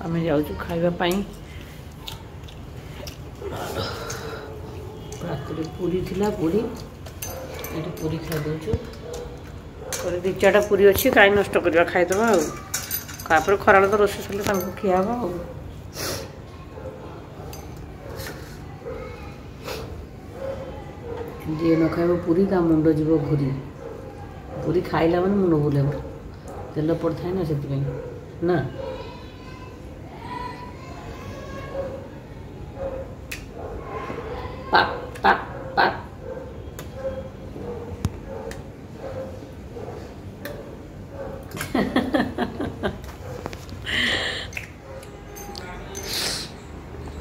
ଆମେ ଯାଉଛୁ ଖାଇବା ପାଇଁ। ରାତିରେ ପୁରୀ ଥିଲା, ପୁରୀ ଏଠି ପୁରୀ ଖାଇଦେଉଛୁ। ପରେ 2 4ଟା ପୁରୀ ଅଛି, କାହିଁ ନଷ୍ଟ କରିବା, ଖାଇଦେବା। ଆଉ ତାପରେ ଖରାବେଳେ ତ ରୋଷେଇ ସରିଲେ ତାଙ୍କୁ ଖିଆ ହେବ। ଆଉ ଯିଏ ନ ଖାଇବ ପୁରୀ ତା ମୁଣ୍ଡ ଯିବ ଘୁରି। ପୁରୀ ଖାଇଲା ମାନେ ମୁଣ୍ଡ ବୁଲେଇବ, ତେଲ ପଡ଼ିଥାଏ ନା, ସେଥିପାଇଁ ନା। ପାକ୍ ପାକ୍ ପାକ୍।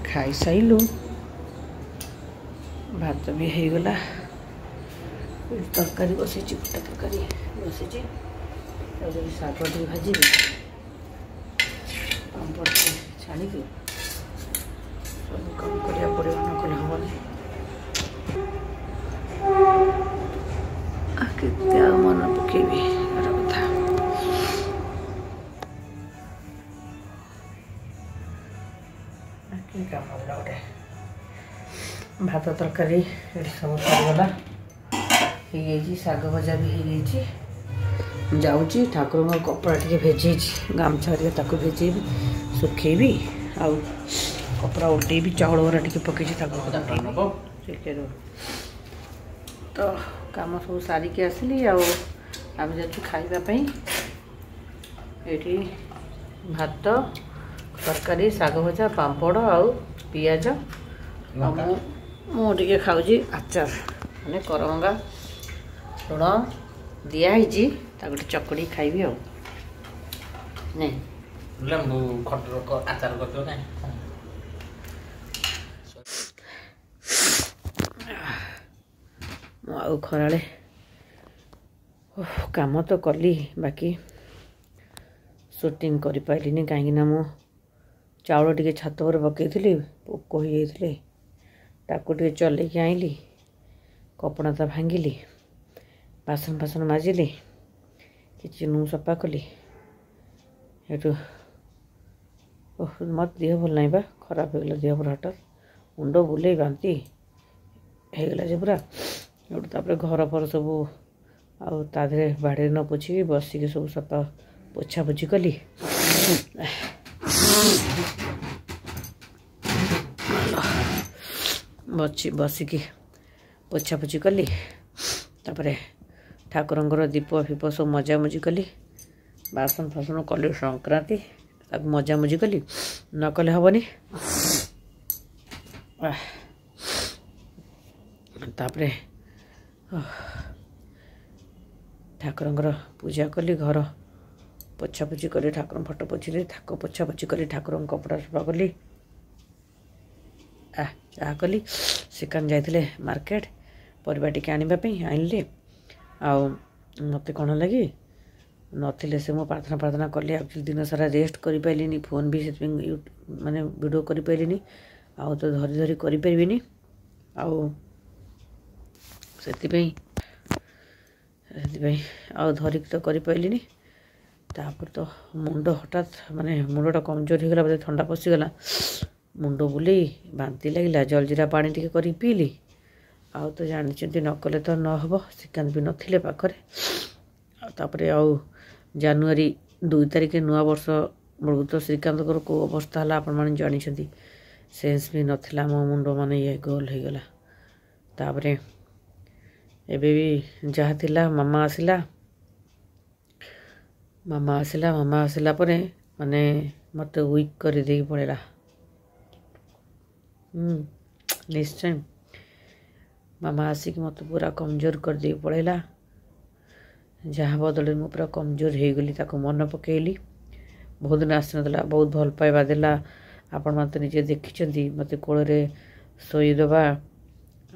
ଖାଇସାଇଲୁ, ଭାତ ବି ହେଇଗଲା, ତରକାରୀ ବସେଇଛି, ଗୋଟା ତରକାରୀ ବସିଛି। ତାପରେ ଶାଗ ଟିକେ ଭାଜିବି, ପାମ୍ପଡ଼ ଟିକେ ଛାଣିକି ସବୁ କାମ କରିବାକୁ ପଡ଼ିବ, ନ କଲେ ହେବନି। କେତେ ଆଉ ମନେ ପକେଇବି ଘର କଥା। କି କାମ ହେଲା ଗୋଟେ। ଭାତ ତରକାରୀ ଏଠି ସବୁ ସରିଗଲା, ହେଇଯାଇଛି, ଶାଗ ଭଜା ବି ହେଇଯାଇଛି। ଯାଉଛି ଠାକୁରଙ୍କ କପଡ଼ା ଟିକେ ଭେଜେଇଛି, ଗାମୁଛା ହେରିକା, ତାକୁ ଭେଜେଇବି, ଶୁଖେଇବି ଆଉ କପଡ଼ା ଓଲଟେଇବି। ଚାଉଳ ବରା ଟିକେ ପକେଇଛି, ତାକୁ ଟିକେ। ତ କାମ ସବୁ ସାରିକି ଆସିଲି ଆଉ ଆମେ ଯାଉଛୁ ଖାଇବା ପାଇଁ। ଏଇଠି ଭାତ ତରକାରୀ, ଶାଗ ଭଜା, ପାମ୍ପଡ଼ ଆଉ ପିଆଜ। ଆଉ ମୁଁ ଟିକେ ଖାଉଛି ଆଚାର, ମାନେ କରମଙ୍ଗା ଲୁଣ ଦିଆହେଇଛି, ତାକୁ ଟିକେ ଚକଡ଼ିକି ଖାଇବି। ଆଉ ନାଇଁ ଲେମ୍ବୁ ଖଟ ଆଚାର କରିଦେବ କାଇଁ। ମୁଁ ଆଉ ଖରାବେଳେ କାମ ତ କଲି, ବାକି ସୁଟିଂ କରିପାରିଲିନି, କାହିଁକିନା ମୁଁ ଚାଉଳ ଟିକେ ଛାତ ଉପରେ ପକାଇଥିଲି, ପୋକ ହେଇଯାଇଥିଲେ, ତାକୁ ଟିକେ ଚଲେଇକି ଆଣିଲି, କପଡ଼ା ତ ଭାଙ୍ଗିଲି, ବାସନ ଫାସନ ମାଜିଲି, କିଚେନ୍ ସଫା କଲି। ସେଠୁ ଓହ, ମୋତେ ଦେହ ଭଲ ନାହିଁ ବା, ଖରାପ ହେଇଗଲା ଦେହ ପୁରା, ହଠାତ୍ ମୁଣ୍ଡ ବୁଲେଇ ବାନ୍ତି ହେଇଗଲା ଯେ ପୁରା। ସେଠୁ ତାପରେ ଘର ଫର ସବୁ ଆଉ ତା ଦେହରେ ବାଡ଼ିରେ ନ ପୋଛିକି ବସିକି ସବୁ ସଫା ପୋଛାପୋଛି କଲି। ବସି ବସିକି ପୋଛାପୋଛି କଲି, ତାପରେ ଠାକୁରଙ୍କର ଦୀପ ଫିପ ସବୁ ମଜାମଜି କଲି, ବାସନ ଫାସନ କଲି, ସଂକ୍ରାନ୍ତି ତାକୁ ମଜାମଜି କଲି, ନ କଲେ ହେବନି। ତାପରେ ଠାକୁରଙ୍କର ପୂଜା କଲି, ଘର ପୋଛାପୋଛି କଲି, ଠାକୁରଙ୍କ ଫଟୋ ପୋଛିଲି, ଥାକ ପୋଛାପୋଛି କଲି, ଠାକୁରଙ୍କ କପଡ଼ା ସଫା କଲି, ଚାହା କଲି। ଶ୍ରୀକାନ୍ତ ଯାଇଥିଲେ ମାର୍କେଟ ପରିବା ଟିକେ ଆଣିବା ପାଇଁ, ଆଣିଲେ। ଆଉ ମୋତେ କ'ଣ ହେଲା କି ନଥିଲେ ସେ, ମୁଁ ପ୍ରାର୍ଥନା ପ୍ରାର୍ଥନା କଲି। ଆକ୍ଚୁଆଲି ଦିନ ସାରା ରେଷ୍ଟ କରିପାରିଲିନି, ଫୋନ୍ ବି ସେଥିପାଇଁ ମାନେ ଭିଡ଼ିଓ କରିପାରିଲିନି, ଆଉ ତ ଧରି ଧରି କରିପାରିବିନି, ଆଉ ସେଥିପାଇଁ ଆଉ ଧରିକି ତ କରିପାରିଲିନି। ତାପରେ ତ ମୁଣ୍ଡ ହଠାତ୍ ମାନେ ମୁଣ୍ଡଟା କମଜୋର ହେଇଗଲା, ବୋଧେ ଥଣ୍ଡା ପଶିଗଲା, ମୁଣ୍ଡ ବୁଲେଇ ବାନ୍ତି ଲାଗିଲା। ଜଲଜିରା ପାଣି ଟିକେ କରିକି ପିଇଲି। ଆଉ ତ ଜାଣିଛନ୍ତି, ନ କଲେ ତ ନ ହେବ, ଶ୍ରୀକାନ୍ତ ବି ନଥିଲେ ପାଖରେ। ଆଉ ତାପରେ ଆଉ ଜାନୁଆରୀ 2 ତାରିଖ ନୂଆବର୍ଷ ବେଳକୁ ତ ଶ୍ରୀକାନ୍ତଙ୍କର କେଉଁ ଅବସ୍ଥା ହେଲା ଆପଣମାନେ ଜାଣିଛନ୍ତି। ସେନ୍ସ ବି ନଥିଲା ମୋ ମୁଣ୍ଡ, ମାନେ ଇଏ ଗୋଲ ହେଇଗଲା। ତାପରେ ଏବେ ବି ଯାହା ଥିଲା, ମାମା ଆସିଲା, ମାମା ଆସିଲା, ମାମା ଆସିଲା ପରେ ମାନେ ମୋତେ ୱିକ୍ କରିଦେଇକି ପଳେଇଲା। ନିଶ୍ଚୟ ମାମା ଆସିକି ମୋତେ ପୁରା କମଜୋର କରିଦେଇକି ପଳେଇଲା, ଯାହା ବଦଳରେ ମୁଁ ପୁରା କମଜୋର ହେଇଗଲି। ତାକୁ ମନେ ପକେଇଲି, ବହୁତ ଦିନ ଆସିନଥିଲା, ବହୁତ ଭଲ ପାଇବା ଦେଲା। ଆପଣମାନେ ତ ନିଜେ ଦେଖିଛନ୍ତି, ମୋତେ କୋଳରେ ଶୋଇଦେବା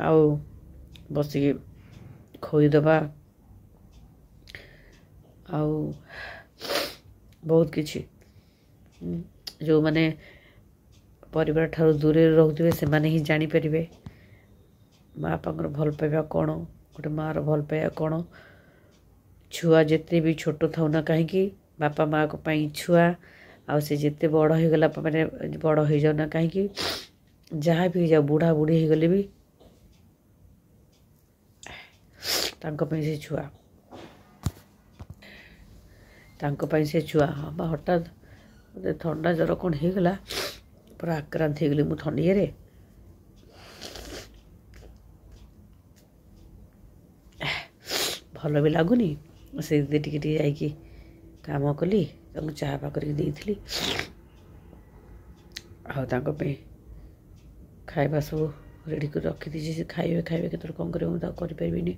ଆଉ ବସିକି ଖୋଇଦେବା ଆଉ ବହୁତ କିଛି। ଯେଉଁମାନେ ପରିବାର ଠାରୁ ଦୂରରେ ରହୁଥିବେ ସେମାନେ ହିଁ ଜାଣିପାରିବେ ମା ବାପାଙ୍କର ଭଲ ପାଇବା କ'ଣ, ଗୋଟେ ମାଆର ଭଲ ପାଇବା କ'ଣ। ଛୁଆ ଯେତେ ବି ଛୋଟ ଥାଉ ନା କାହିଁକି, ବାପା ମାଆଙ୍କ ପାଇଁ ଛୁଆ, ଆଉ ସେ ଯେତେ ବଡ଼ ହେଇଗଲା, ମାନେ ବଡ଼ ହେଇଯାଉ ନା କାହିଁକି, ଯାହା ବି ହେଇଯାଉ, ବୁଢ଼ା ବୁଢ଼ୀ ହେଇଗଲେ ବି ତାଙ୍କ ପାଇଁ ସେ ଛୁଆ, ତାଙ୍କ ପାଇଁ ସେ ଛୁଆ। ହଁ ବା, ହଠାତ୍ ମୋତେ ଥଣ୍ଡା ଜ୍ୱର କ'ଣ ହେଇଗଲା, ପୁରା ଆକ୍ରାନ୍ତ ହେଇଗଲି ମୁଁ ଥଣ୍ଡିଆରେ। ଭଲ ବି ଲାଗୁନି। ସେ ଟିକେ ଟିକେ ଯାଇକି କାମ କଲି, ତାଙ୍କୁ ଚାହା ଫା କରିକି ଦେଇଥିଲି, ଆଉ ତାଙ୍କ ପାଇଁ ଖାଇବା ସବୁ ରେଡ଼ି କରି ରଖିଦେଇଛି। ସେ ଖାଇବେ ଖାଇବେ କେତେବେଳେ କ'ଣ କରିବେ, ମୁଁ ତାକୁ କରିପାରିବିନି।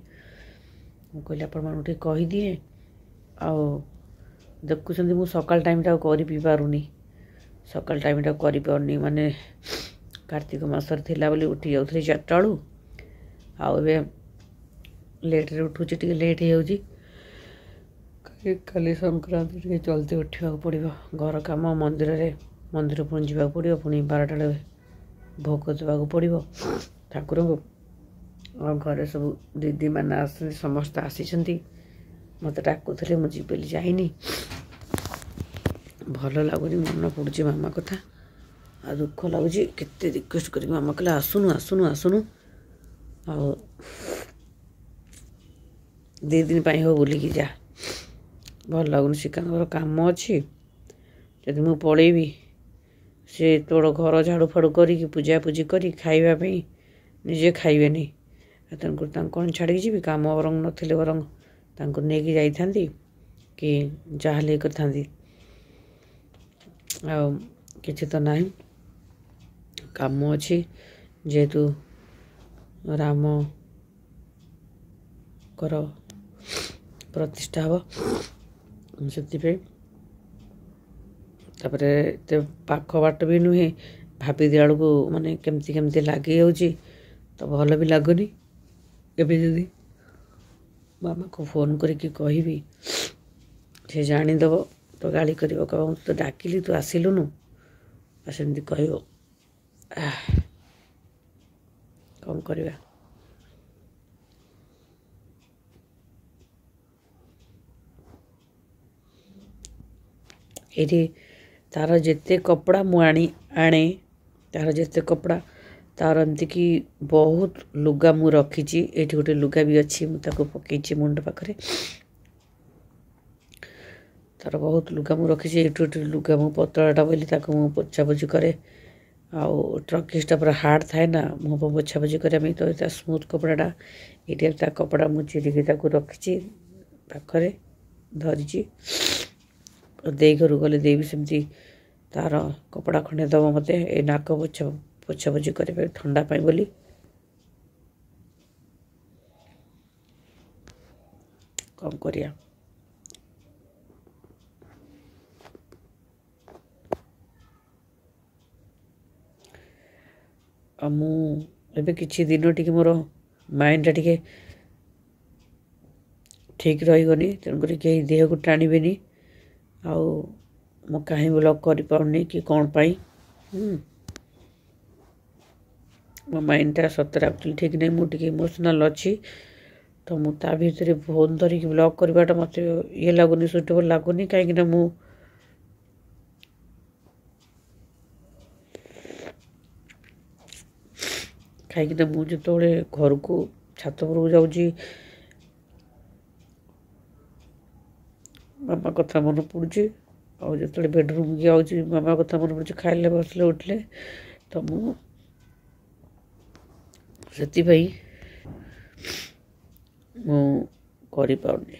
ମୁଁ କହିଲି ଆପଣମାନଙ୍କୁ ଟିକେ କହିଦିଏ। ଆଉ ଦେଖୁଛନ୍ତି, ମୁଁ ସକାଳ ଟାଇମ୍ଟା ଆଉ କରି ବି ପାରୁନି, ସକାଳ ଟାଇମ୍ଟା କରିପାରୁନି। ମାନେ କାର୍ତ୍ତିକ ମାସରେ ଥିଲା ବୋଲି ଉଠି ଯାଉଥିଲି 4ଟା ବେଳୁ, ଆଉ ଏବେ ଲେଟ୍ରେ ଉଠୁଛି, ଟିକେ ଲେଟ୍ ହେଇଯାଉଛି। କାଲି ସଂକ୍ରାନ୍ତି, ଟିକେ ଜଲ୍ଦି ଉଠିବାକୁ ପଡ଼ିବ। ଘର କାମ, ମନ୍ଦିରରେ, ମନ୍ଦିର ପୁଣି ଯିବାକୁ ପଡ଼ିବ, ପୁଣି 12ଟା ବେଳେ ଭୋଗ ଦେବାକୁ ପଡ଼ିବ ଠାକୁରଙ୍କୁ। ଆଉ ଘରେ ସବୁ ଦିଦିମାନେ ଆସୁଛନ୍ତି, ସମସ୍ତେ ଆସିଛନ୍ତି, ମୋତେ ଡାକୁଥିଲେ, ମୁଁ ଯିବି ବୋଲି ଯାଇନି। ଭଲ ଲାଗୁନି, ମନେ ପଡ଼ୁଛି ମାମା କଥା ଆଉ ଦୁଃଖ ଲାଗୁଛି। କେତେ ରିକ୍ୱେଷ୍ଟ କରିକି ମାମା କହିଲେ ଆସୁନୁ ଆସୁନୁ ଆସୁନୁ, ଆଉ 2 ଦିନ ପାଇଁ ହଉ ବୁଲିକି ଯା। ଭଲ ଲାଗୁନି। ଶ୍ରୀକାନ୍ତଙ୍କର କାମ ଅଛି, ଯଦି ମୁଁ ପଳେଇବି ସେ ତୋଳ ଘର ଝାଡ଼ୁ ଫାଡ଼ୁ କରିକି ପୂଜାପୂଜି କରି ଖାଇବା ପାଇଁ ନିଜେ ଖାଇବେନି, ଆଉ ତେଣୁକରି ତାଙ୍କୁ କ'ଣ ଛାଡ଼ିକି ଯିବି? କାମ ବରଂ ନଥିଲେ ବରଂ ତାଙ୍କୁ ନେଇକି ଯାଇଥାନ୍ତି କି ଯାହା ହେଲେ କରିଥାନ୍ତି, ଆଉ କିଛି ତ ନାହିଁ। କାମ ଅଛି ଯେହେତୁ ରାମଙ୍କର ପ୍ରତିଷ୍ଠା ହେବ, ସେଥିପାଇଁ। ତାପରେ ଏତେ ପାଖ ବାଟ ବି ନୁହେଁ, ଭାବିଦେଲା ବେଳକୁ ମାନେ କେମିତି କେମିତି ଲାଗିଯାଉଛି, ତ ଭଲ ବି ଲାଗୁନି। ଏବେ ଯଦି ମାମାକୁ ଫୋନ୍ କରିକି କହିବି, ସେ ଜାଣିଦେବ ତ ଗାଳି କରିବ, କହିବ ମୁଁ ତୋତେ ଡାକିଲି ତୁ ଆସିଲୁନୁ, ଆଉ ସେମିତି କହିବ। କ'ଣ କରିବା? ଏଇଠି ତାର ଯେତେ କପଡ଼ା ମୁଁ ଆଣି ଆଣେ, ତାର ଯେତେ କପଡ଼ା, ତାର ଏମିତିକି ବହୁତ ଲୁଗା ମୁଁ ରଖିଛି। ଏଇଠି ଗୋଟେ ଲୁଗା ବି ଅଛି, ମୁଁ ତାକୁ ପକେଇଛି ମୁଣ୍ଡ ପାଖରେ। ତାର ବହୁତ ଲୁଗା ମୁଁ ରଖିଛି। ଏଇଠୁ ଏଠି ଲୁଗା ମୁଁ ପତଳାଟା ବୋଲି ତାକୁ ମୁଁ ପୋଛାପୋଛି କରେ, ଆଉ ଟ୍ରକିସଟା ପୁରା ହାର୍ଡ଼ ଥାଏ ନା, ମୁହଁ ପୋଛାପୋଛି କରିବା ପାଇଁ, ତ ତା ସ୍ମୁଥ୍ କପଡ଼ାଟା। ଏଇଠି ତା କପଡ଼ା ମୁଁ ଚିରିକି ତାକୁ ରଖିଛି, ପାଖରେ ଧରିଛି। ଦେଇ ଘରକୁ ଗଲେ ଦେଇ ବି ସେମିତି ତାର କପଡ଼ା ଖଣ୍ଡେ ଦେବ ମୋତେ, ଏ ନାକ ପୋଛା ପୋଛାପୋଛି କରିବା ପାଇଁ ଥଣ୍ଡା ପାଇଁ ବୋଲି। କ'ଣ କରିବା? ଆଉ ମୁଁ ଏବେ କିଛି ଦିନ ଟିକେ ମୋର ମାଇଣ୍ଡଟା ଟିକେ ଠିକ୍ ରହିବନି, ତେଣୁକରି କେହି ଦେହକୁ ଟାଣିବେନି। ଆଉ ମୁଁ କାହିଁ ବ୍ଲଗ୍ କରିପାରୁନି କି କ'ଣ ପାଇଁ, ମୋ ମାଇଣ୍ଡଟା ସତରେ ଆକ୍ଚୁଆଲି ଠିକ୍ ନାହିଁ, ମୁଁ ଟିକେ ଇମୋସନାଲ୍ ଅଛି। ତ ମୁଁ ତା ଭିତରେ ଫୋନ୍ ଧରିକି ବ୍ଲଗ୍ କରିବାଟା ମୋତେ ଇଏ ଲାଗୁନି, ସୁଇଟେବଲ୍ ଲାଗୁନି, କାହିଁକିନା ମୁଁ ଯେତେବେଳେ ଘରକୁ ଛାତ ଉପରକୁ ଯାଉଛି ମାମା କଥା ମନେ ପଡ଼ୁଛି, ଆଉ ଯେତେବେଳେ ବେଡ଼ରୁମ୍କି ଯାଉଛି ମାମା କଥା ମନେ ପଡ଼ୁଛି, ଖାଇଲେ ବସିଲେ ଉଠିଲେ। ତ ମୁଁ ସେଥିପାଇଁ ମୁଁ କରିପାରୁନି,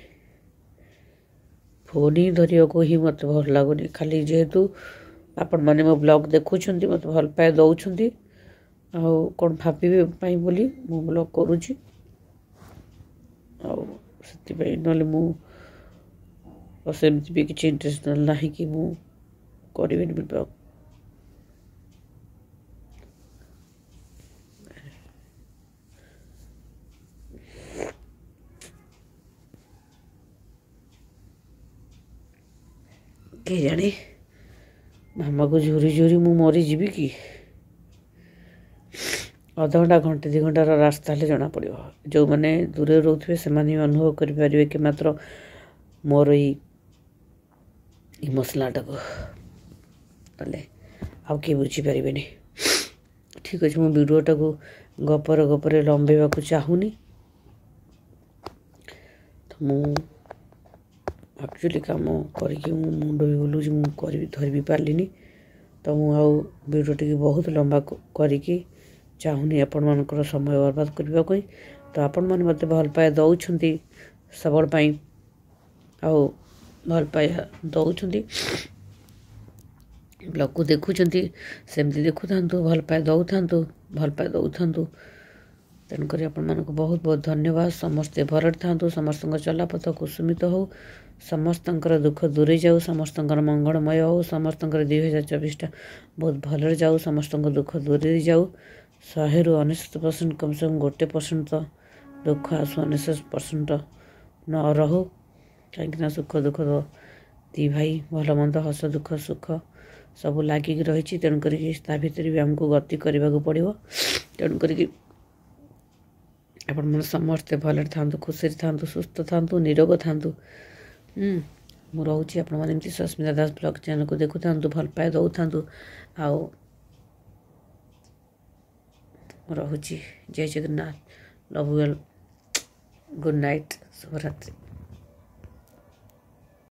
ଫୋନ୍ ହିଁ ଧରିବାକୁ ହିଁ ମୋତେ ଭଲ ଲାଗୁନି। ଖାଲି ଯେହେତୁ ଆପଣମାନେ ମୋ ବ୍ଲଗ୍ ଦେଖୁଛନ୍ତି, ମୋତେ ଭଲ ପାଇବା ଦେଉଛନ୍ତି, ଆଉ କ'ଣ ଭାବିବେ ପାଇଁ ବୋଲି ମୁଁ ବ୍ଲଗ୍ କରୁଛି, ଆଉ ସେଥିପାଇଁ, ନହେଲେ ମୁଁ ସେମିତି ବି କିଛି ଇଣ୍ଟରେଷ୍ଟ ନାହିଁ କି ମୁଁ କରିବିନି ବ୍ଲଗ୍। କେଜାଣି ମାମାକୁ ଝୁରି ଝୁରି ମୁଁ ମରିଯିବି କି? ଅଧଘଣ୍ଟା ଘଣ୍ଟେ 2 ଘଣ୍ଟାର ରାସ୍ତା ହେଲେ ଜଣାପଡ଼ିବ। ଯେଉଁମାନେ ଦୂରରେ ରହୁଥିବେ ସେମାନେ ହିଁ ଅନୁଭବ କରିପାରିବେ କି ମାତ୍ର ମୋର ଏଇ ଇମୋସନାଲଟାକୁ। ତାହେଲେ ଆଉ କିଏ ବୁଝିପାରିବେନି। ଠିକ୍ ଅଛି, ମୁଁ ଭିଡ଼ିଓଟାକୁ ଗପରେ ଗପରେ ଲମ୍ବେଇବାକୁ ଚାହୁଁନି। ତ ମୁଁ ଆକ୍ଚୁଆଲି କାମ କରିକି ମୁଁ ମୁଣ୍ଡ ବି ବୁଲଉଛି, ମୁଁ କରିବି ଧରି ବି ପାରିଲିନି। ତ ମୁଁ ଆଉ ଭିଡ଼ିଓଟିକୁ ବହୁତ ଲମ୍ବା କରିକି ଚାହୁଁନି ଆପଣମାନଙ୍କର ସମୟ ବର୍ବାଦ କରିବାକୁ। ତ ଆପଣମାନେ ମୋତେ ଭଲ ପାଇବା ଦେଉଛନ୍ତି ସବୁବେଳେ ପାଇଁ, ଆଉ ଭଲ ପାଇବା ଦେଉଛନ୍ତି, ବ୍ଲଗ୍କୁ ଦେଖୁଛନ୍ତି, ସେମିତି ଦେଖୁଥାନ୍ତୁ, ଭଲ ପାଇବା ଦେଉଥାନ୍ତୁ, ଭଲ ପାଇବା ଦେଉଥାନ୍ତୁ। ତେଣୁକରି ଆପଣମାନଙ୍କୁ ବହୁତ ବହୁତ ଧନ୍ୟବାଦ। ସମସ୍ତେ ଭଲରେ ଥାନ୍ତୁ, ସମସ୍ତଙ୍କ ଚଲାପଥ କୁସୁମିତ ହେଉ, ସମସ୍ତଙ୍କର ଦୁଃଖ ଦୂରେଇ ଯାଉ, ସମସ୍ତଙ୍କର ମଙ୍ଗଳମୟ ହେଉ, ସମସ୍ତଙ୍କର 2024ଟା ବହୁତ ଭଲରେ ଯାଉ, ସମସ୍ତଙ୍କ ଦୁଃଖ ଦୂରେଇ ଯାଉ। 100ରୁ 99%, କମ୍ ସେ କମ୍ 1% ତ ଦୁଃଖ ଆସୁ, 99% ନ ରହୁ। କାହିଁକିନା ସୁଖ ଦୁଃଖ ଦି ଭାଇ, ଭଲ ମନ୍ଦ, ହସ ଦୁଃଖ ସୁଖ ସବୁ ଲାଗିକି ରହିଛି। ତେଣୁ କରିକି ତା ଭିତରେ ବି ଆମକୁ ଗତି କରିବାକୁ ପଡ଼ିବ। ତେଣୁ କରିକି ଆପଣମାନେ ସମସ୍ତେ ଭଲରେ ଥାଆନ୍ତୁ, ଖୁସିରେ ଥାଆନ୍ତୁ, ସୁସ୍ଥ ଥାଆନ୍ତୁ, ନିରୋଗ ଥାଆନ୍ତୁ। ମୁଁ ରହୁଛି। ଆପଣମାନେ ଏମିତି ସସ୍ମିତା ଦାସ ବ୍ଲଗ୍ ଚ୍ୟାନେଲ୍କୁ ଦେଖୁଥାନ୍ତୁ, ଭଲ ପାଇବା ଦେଉଥାନ୍ତୁ। ଆଉ ମୁଁ ରହୁଛି। ଜୟ Jagannath, love well, good night, ଶୁଭରାତ୍ରି।